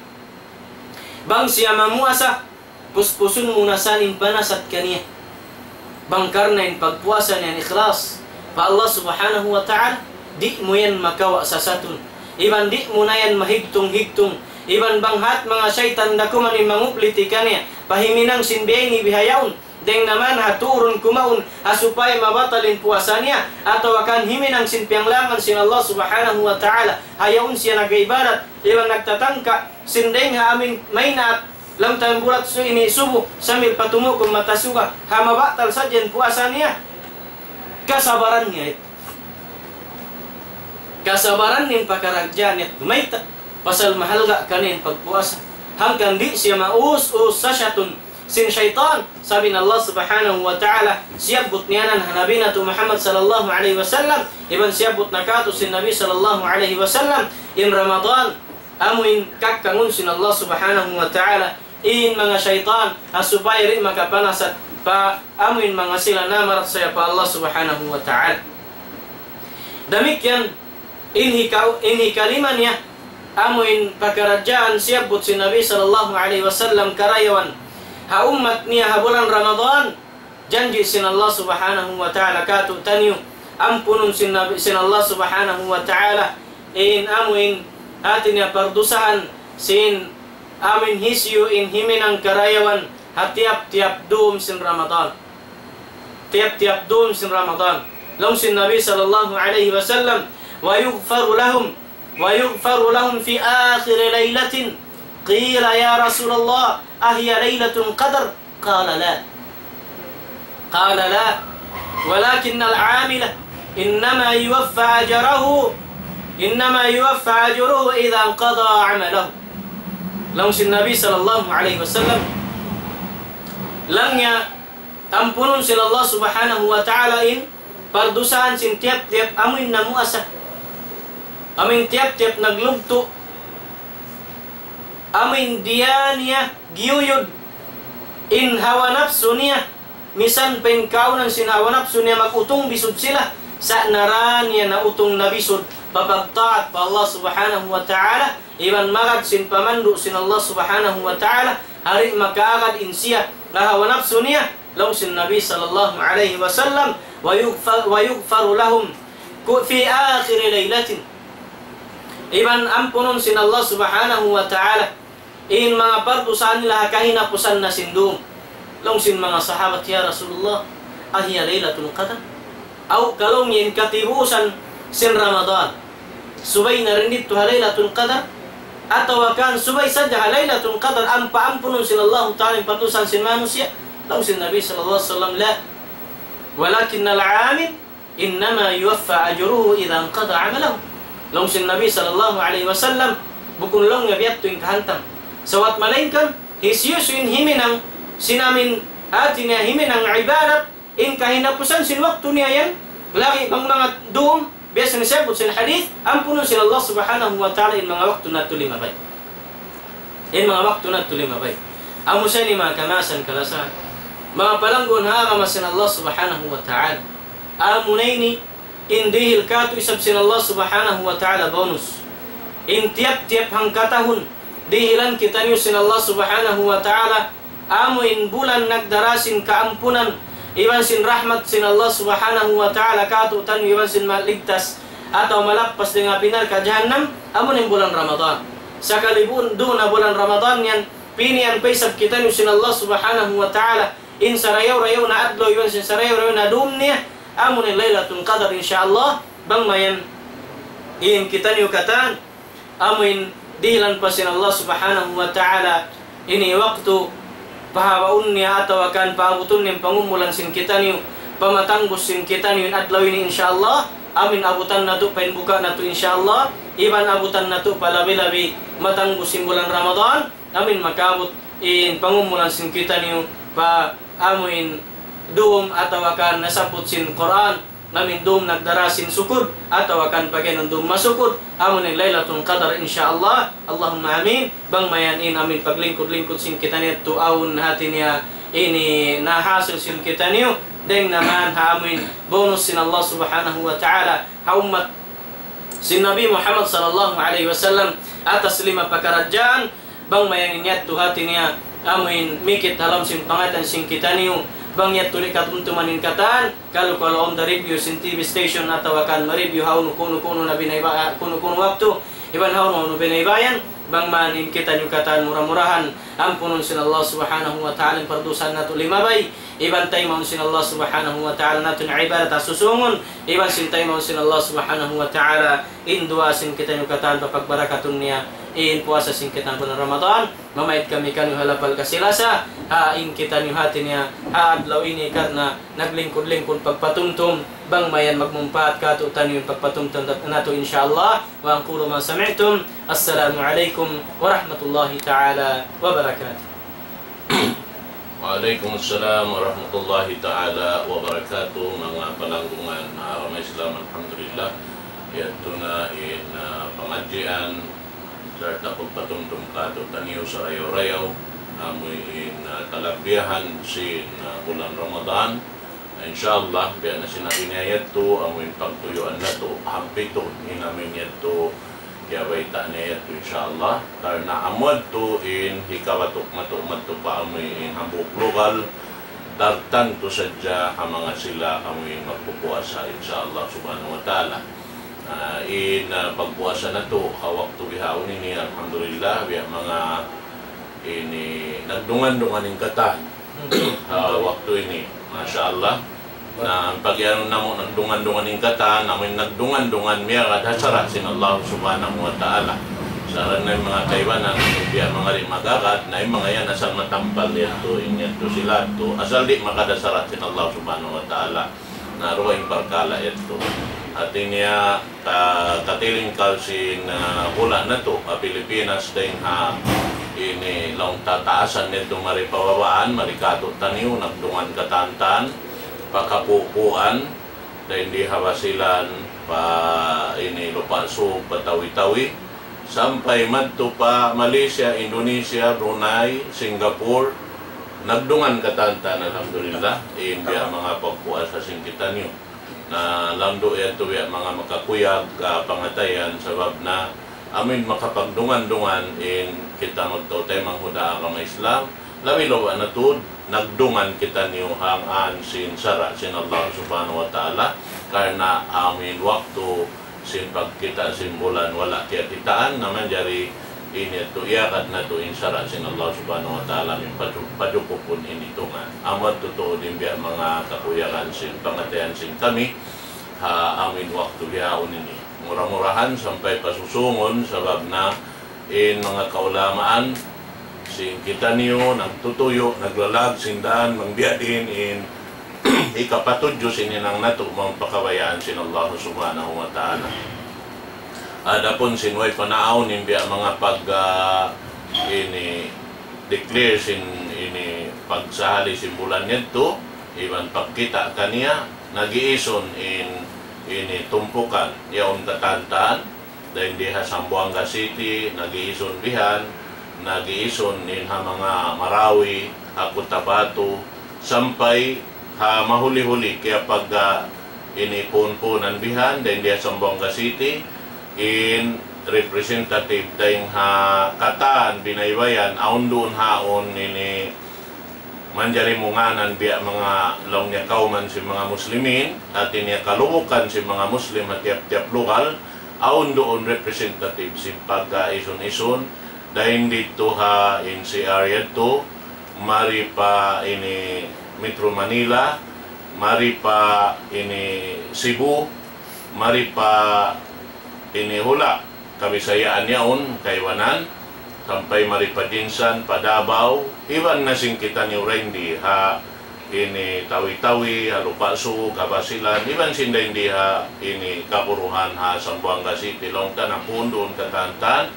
bang siya mamuasa, puspusun mu na sa in panasat kaniya. Bang karna' in pagpuasa niya ikhlas pa Allah Subhanahu wa Ta'ala, di' mu yan makawa' sasatun. Iban di' mu na yan mahigtung-higtung. Iban bang hat manga saytan da kuman in mangupliti kaniya, pa himinang sin biya' ini bihaun, dayng naman ha turun kumaun, ha supaya mabatal in puasa niya, atawa kan himinang sin piyanglangan sin Allah Subhanahu wa Ta'ala, ha yaun siya nag-ibadat, iban nagtatangka, sin dayng ha amuin maynaat, lamtayambulat su ini subu, sambil pa tumukum mata suga, ha mabatal sadja in puasa niya, kasabaran niya yadtu. Kasabaran niya in pakaradjaan yadtu. Mayta'? Pasal mahalga' kaniya in pagpuasa. Hangkan di' siya maus-us sasatun sin saytan. Sabab in Allah Subhanahu wa Ta'ala, siyabbut niya yan ha Nabi natu' Muhammad sallallahu alayhi wasallam, iban siyabbut na katu' sin Nabi sallallahu alayhi wasallam, in Ramadan, amuin kakkangun sin Allah Subhanahu wa Ta'ala, in manga saytan, ha supaya di' makapanasat pa amuin manga sila namarachaya pa Allah Subhanahu wa Ta'ala. Damikkiyan, in hika-, in hikalima niya, amuin pakaradjaan siyabbut sin Nabi sallallahu alayhi wasallam karayawan ha ummat niya ha bulan Ramadan, janji' sin Allah Subhanahu wa Ta'ala katu'taniyu, ampunun sin Nabi, sin Allah Subhanahu wa Ta'ala, in amuin hati niya pardusahan sin amuin hisiyu in himinang karayawan ha tiyap-tiyap dum sin Ramadan. Tiyap-tiyap dum sin Ramadan. Laung sin Nabi sallallahu alayhi wasallam, ويغفر لهم، ويغفر لهم في آخر ليلة. قيل يا رسول الله، أهي ليلة القدر؟ قال لا. قال لا، ولكن العامل إنما يوفى أجره، إنما يوفى أجره إذا انقضى عمله. Laung sin Nabi sallallahu alayhi wasallam, laung niya, ampunun sin Allah Subhanahu wa Ta'ala in pardusahan sin tiyap-tiyap amuin namuasa. Amuin tiyap-tiyap naglugtu'. Amuin diya niya giyuyud in hawa napsu niya, misan pa in kaunan sin hawa napsu niya mag-utung bisud sila, sa' nara niya nautung na bisud pa pagtaat pa Allah Subhanahu wa Ta'ala, iban magad sin pamandu' sin Allah Subhanahu wa Ta'ala, di' makaagad in siya ha hawa napsu niya, laung sin Nabi sallallahu alayhi wasallam, ويغفر، ويغفر لهم في آخر ليلة. Iban ampunun sin Allah Subhanahu wa Ta'ala in manga pardusahan nila ha kahinapusan na sin dum. Laung sin manga sahabat, "Ya Rasulullah, أهي ليلة القدر؟" Aw, ka laung niya in katibusan sin Ramadan, subay na rin didtu ha Laylatul Qadar, atawa kan subay sadja ha Laylatul Qadar ampa ampunun sin Allahu Ta'ala in pardusahan sin manusiya'? Laung sin Nabi sallallahu alayhi wasallam, "La, ولكن العامل إنما يوفى أجره إذا انقضى عمله." Laung sin Nabi sallallahu alayhi wasallam, bukun laung niya biya' yadtu in kahantang. Sawat malaingkan, hisiyu-siyu in himinang sin amuin hati niya himinang ibadat, in kahinapusan sin waktu niya yan, lagi' bang manga dum, biya' sin siyabbut sin hadith, ampunun sin Allah Subhanahu wa Ta'ala in manga waktu natu' limabay. In manga waktu natu' limabay. Amu sa ini manga kamaasan kalasahan, manga palangguun ha agama sin Allah Subhanahu wa Ta'ala. Amu na ini in dihil katu' isab sin Allah Subhanahu wa Ta'ala bonus. In tiyap-tiyap hangkatahun, dihilan kitaniyu sin Allah Subhanahu wa Ta'ala, amu in bulan nagdara sin kaampunan, iban sin rahmat sin Allah Subhanahu wa Ta'ala katu'taniyu, iban sin maligtas atawa malappas dayn ha api narka' jahannam, amu in bulan Ramadan. Sakali bu-, duun ha bulan Ramadan yan, pinian pa isab kitaniyu sin Allah Subhanahu wa Ta'ala, in sarayaw-rayaw na adlaw, iban sin sarayaw-rayaw na dum niya, amu in Laylatul Qadar, insya Allah, bang mayan in kitaniyu katan, amu in dihilan pa sin Allah Subhanahu wa Ta'ala ini waktu, pahabaun niya atawa kan paabutun niya in pangumulan sin kitaniyu, pamatangbus sin kitaniyu in adlaw ini, insya Allah, Amin abutan natu' pa in buka' natu', insya Allah. Iban abutan natu' pa labi-labi matanggu sin bulan Ramadan. Amin makaabut in pangumulan sin kitaniyu pa amuin dum atawa kan nasabbut sin Qur'an. Amin dum nagdara sin sukud atawa kan pag'inun dum masukud. Amuin Laylatul Qadar, insya Allah. Allahumma amin. Bang mayan in amin paglingkud-lingkud sin kitaniyu yadtu awn hati niya ini nahasil sin kitaniyu. Dayng na man ha amuin bonus sin Allah Subhanahu wa Ta'ala ha ummat sin Nabi Muhammad sallallahu alayhi wasallam atas lima pakaradjaan. Bang mayan in yadtu hati niya amuin mikit ha lawm sin pangatayan sin kitaniyu. Bang yadtu di' katumtuman in katan, kalu-kalu awn da review sin T V station atawa kan ma-review ha unu kunu-kunu na binayba-, kunu-kunu waktu, iban ha unu-unu binaybayan, bang man in kitaniyu katan mura-murahan ampunun sin Allah Subhanahu wa Ta'ala in pardusahan natu' limabay, iban taymaun sin Allah Subhanahu wa Ta'ala natu' in ibadat ha susungun, iban sin taymaun sin Allah Subhanahu wa Ta'ala in duwaa sin kitaniyu katan papagbarakatun niya in puasa sin kitaniyu bulan Ramadan. Mamaid kami kaniyu ha lapal kasi-lasa, ha in kitaniyu hati niya ha adlaw ini karna' naglingkud-lingkud pagpatumtum, bang mayan magmumpaat kātu'niyu in pagpatumtum natu', insya Allah. وأقول ما سمعتم. السلام عليكم ورحمة الله تعالى وبركاته. Wa alaykum assalam warahmatullahi ta'ala wabarakatuh. Manga palanggungan, ah, agama Islam, alhamdulillah. Yadtu na in, ah, pangadjian, sarta' pagpatumtum kātu'niyu sarayaw-rayaw, amuin, ah, kalabihan sin, ah, bulan Ramadan. Insya Allah, biya' na sin agi niya yadtu, amuin pagtuyuan natu', hangkan in amuin yadtu, kiyabayta' niya yadtu, insya Allah. Karna' amu yadtu in hikawatuk natu' madtu pa amuin hambuuk lugal, tartantu sadja ha manga sila amuin magpupuasa, insya Allah subhanahu wa ta'ala. Ah, in, ah, pagpuasa natu', ha waktu bihaun ini, alhamdulillah, biya' manga ini nagdungan-dungan in katan. Ah, waktu ini, masha Allah. Na, in pag'iyanun namu' nagdungan-dungan in katan, amuin nagdungan-dungan miyagad ha sara' sin Allah subhanahu wa ta'ala. Sa' in manga kaibanan, biya' manga di' magagad, na in manga yan asal matampal yadtu, in yadtu sila yadtu, asal di' magagad ha sara' sin Allah subhanahu wa ta'ala. Na, duwa in parkala' yadtu. Hati niya, ka-, katilingkal sin, ah, hula' natu', ha Pilipinas, dayng ha ini laung ta taasan yadtu mari pa babaan, mari kātu'niyu, nagdungan katantan, pa Kapupuan, dayng di ha Basilan, pa ini Lupa' Sug, pa Tawi-Tawi, sampay madtu pa Malaysia, Indonesia, Brunei, Singapore, nagdungan katantan, alhamdulillah, in biya' manga pagpuasa sin kitaniyu. Na, landu' yadtu biya' manga makakuyag, ah, pangatayan, sabab na amuin makapagdungan-dungan in kita magtautay manghuda agama Islam, labi-labi na tuud, nagdungan kitaniyu hangkan sin sara' sin Allah subhanahu wa ta'ala, karna' amuin waktu sin pagkita' sin bulan wala' kiyakitaan, na manjari ini yadtu iyagad natu' in sara' sin Allah subhanahu wa ta'ala, amuin paju-, pajukupun in itungan. Amu yadtu tuud in biya' manga kakuyagan sin pangatayan sin kami, ha amuin waktu bihaun ini. Mura-murahan sampay pa susungun, sabab na in manga kaulamaan, sin kitaniyu, nagtutuyu', naglalag, sin daan, bang biya' diin in hikapatudju sin hinang natu', bang pakabayaan sin Allah subhanahu wa ta'ala. Adapun sin way pa naawn in biya' manga pag, ah, ini, declare sin ini pagsahali sin bulan yadtu, iban pagkita' kaniya, nag-iisun in ini tumpukan, yaun katantan, dayn di ha Zamboanga City, nag-iisun bihan, nag-iisun in ha manga Marawi, ha Cotabato, sampay ha mahuli-huli, kaya pag, ah, ini puun-puunan bihan, dayn di ha Zamboanga City, in representative dayn ha katan binaybayan, awn duun haun ini manjari mu ngānan biya' manga laung niya kawman sin manga Muslimin, hati niya kalubukan sin manga Muslim ha tiyap-tiyap lugal, awn duun representative sin pag-isun-isun, dayn didtu ha N C R yadtu, mari pa ini Metro Manila, mari pa ini Cebu, mari pa ini hula' Kabisayaan yaun, kaibanan, sampay mari pa Jinsan, pa Davao, iban na sin kitaniyu dayn di ha ini Tawi-Tawi, ha Lupa' Sug, ha Basilan, iban sin dayn di ha ini kaguruhan ha Zamboanga City, laung ta nagpuun duun katan-katan,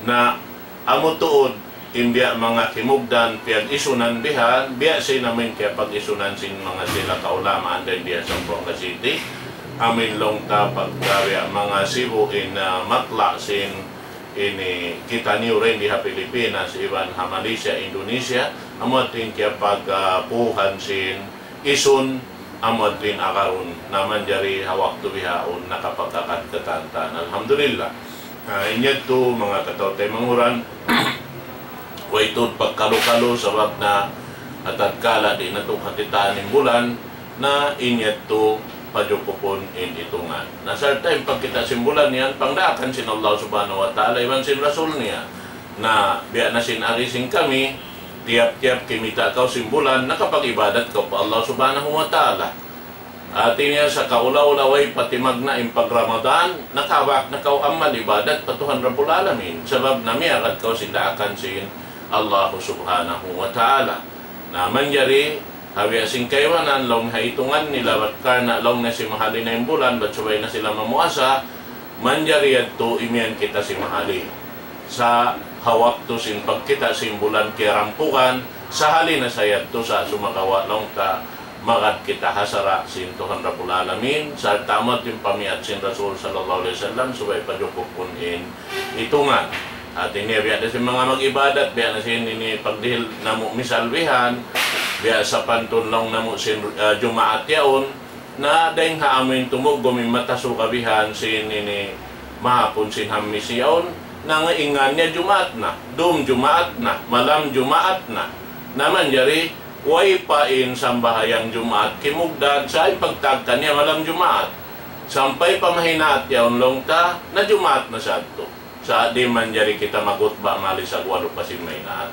na amu tuud, in biya' manga kimugdan, piyag-isunan bihan, biya' sin amuin kiyapag-isunan sin manga sila kaulamaan dayn di ha Zamboanga City, amuin laung ta pagka biya' manga sibu' in, ah, matla' sin ini kitaniyu dayn di ha Pilipinas, iban ha Malaysia, Indonesia, amu yadtu in kiyapag, ah, puuhan sin isun, amu yadtu in agarun, na manjari ha waktu bihaun nakapagkakad katan-katan. Alhamdulillah. Ah, in yadtu manga kataw-taymanghuran, way tuud pagkalu-kalu sabab na ha tatkala di' natu' kakitaan in bulan, na in yadtu pajukupun in itungan. Na sarta' in pagkita' sin bulan yan, pangdaakan sin Allah Subhanahu wa Ta'ala, iban sin Rasul niya. Na biya' na sin agi sin kami, tiyap-tiyap kimita' kaw sin bulan, nakapag-ibadat kaw pa Allah Subhanahu wa Ta'ala. Hati niya sa kaula-ula way pa timagna' in pag-Ramadan, nakabak na kaw amal ibadat pa Tuhan Rabbul Alamin. Sabab na miyagad kaw sin daakan sin Allah Subhanahu wa Ta'ala. Na manjari, ha biya' sin kaibanan, laung ha itungan nila, bat karna' laung na simahali na in bulan, bat subay na sila mamuasa, manjari yadtu imiyan kita simahali. Sa' ha waktu sin pagkita' sin bulan kiyarampugan, sahali na sa yadtu sa' sumagawa' laung ta magad kita ha sara' sin Tuhan Rabbul Alamin, sarta' amu yadtu in pamiyat sin Rasul sallallahu alayhi wasallam, subay pajukupun in itungan. Hati niya biya' da sin manga mag-ibadat, biya' na sin ini pagdihil namu' misal bihan, biya' sapantun laung namu' sin, ah, Jumaat yaun, na dayng ha amuin tumugum in mata suga bihan sin ini mahapun sin Hammis yaun, na nga in ngan niya Jumaat na, dum Jumaat na, malam Jumaat na. Na manjari, way pa in sambahayang Jumaat kimugdan, sa' in pagtagka niya malam Jumaat. Sampay pa mahinaat yaun laung ta, na Jumaat na sadtu. Sa' di' manjari kita maghutba malisag walu pa sin mahinaat.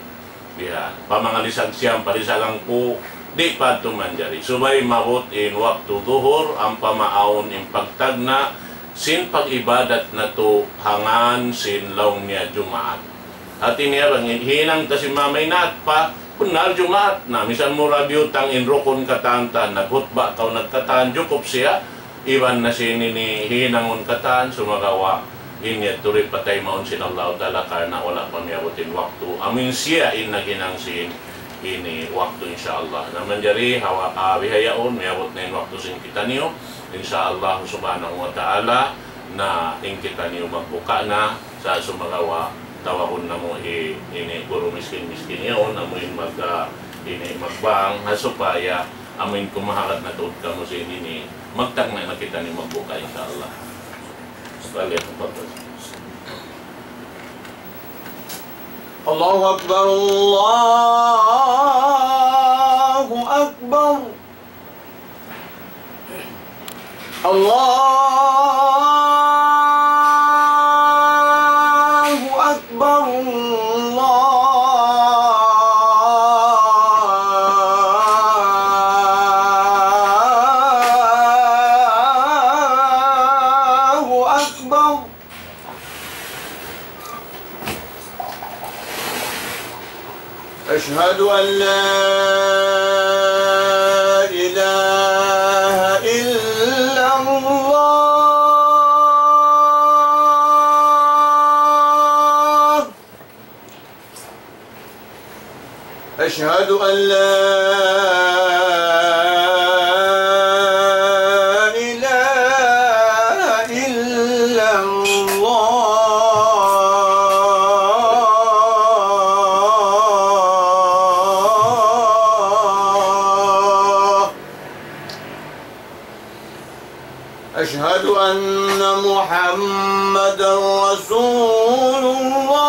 Bihan. Pa manga lisag siyam, pa lisag hangpu', di' pa yadtu manjari. Subay maabut in waktu duhur, ampa maawn in pagtagna' sin pag-ibadat natu' ha ngan sin laung niya Jumaat. Hati niya bang in hinang ta sin mamahinat pa, bunnal Jumaat na, misan mura biyutang in rukun katan-katan, naghutba kaw nagkatan, jukup siya, iban na sin ini hinangun katan, sumagawa', in yadtu di' pataymaun sin Allahu Ta'ala karna' wala' pa miyabut in waktu. Amu in siya in naghinang sin ini waktu, insya Allah. Na manjari, hawa, ah, bihaun, miyabut na in waktu sin kitaniyu, insya Allah subhanahu wa ta'ala, na in kitaniyu magbuka na, sa' sumagawa', tawagun namu' hi, ini guru miskin-miskin yaun, amu in mag, ah, ini magbang, ha supaya, amu in kumaharat na tuud kamu sin ini, magtagna' na kitaniyu magbuka, insya Allah. Sekali, tafaddal. الله أكبر، الله أكبر، الله أكبر، الله أكبر. أشهد أن لا إله إلا الله. أشهد أن لا إله إلا الله. أشهد أن محمدا رسول الله.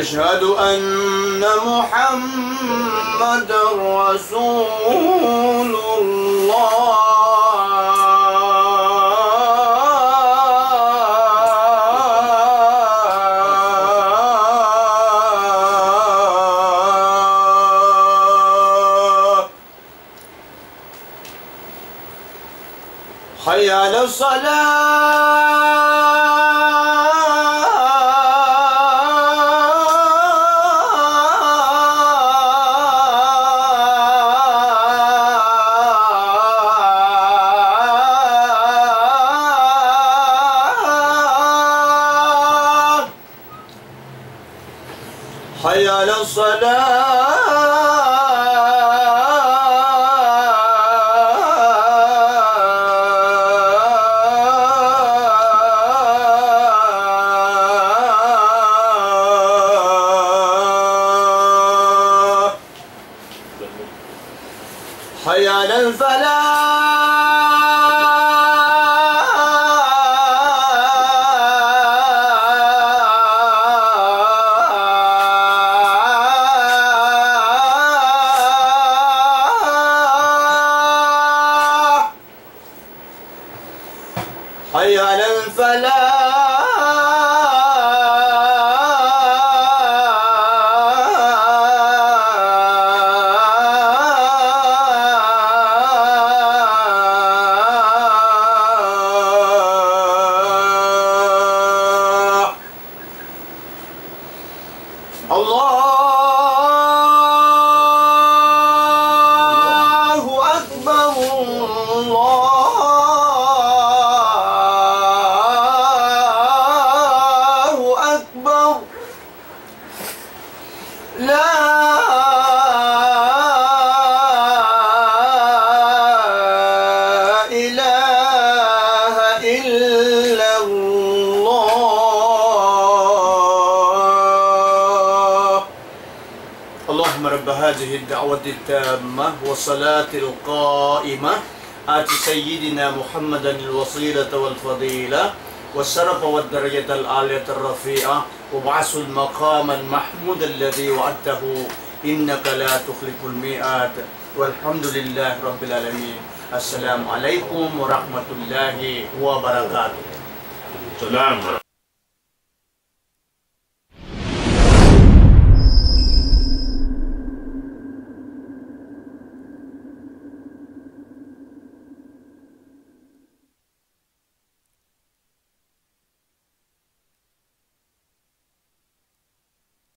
أشهد أن محمدا رسول الله. على الصلاة. حي على الصلاة. حي على الفلاح. حي على الفلاح. الله أكبر، الله أكبر. لا إله إلا الله. اللهم رب هذه الدعوة التامة والصلاة القائمة، آت سيدنا محمدا الوسيلة والفضيلة والشرف والدرجة العالية الرفيعة وابعثه المقام المحمود الذي وعدته إنك لا تخلف الميعاد. والحمد لله رب العالمين. السلام عليكم ورحمة الله وبركاته.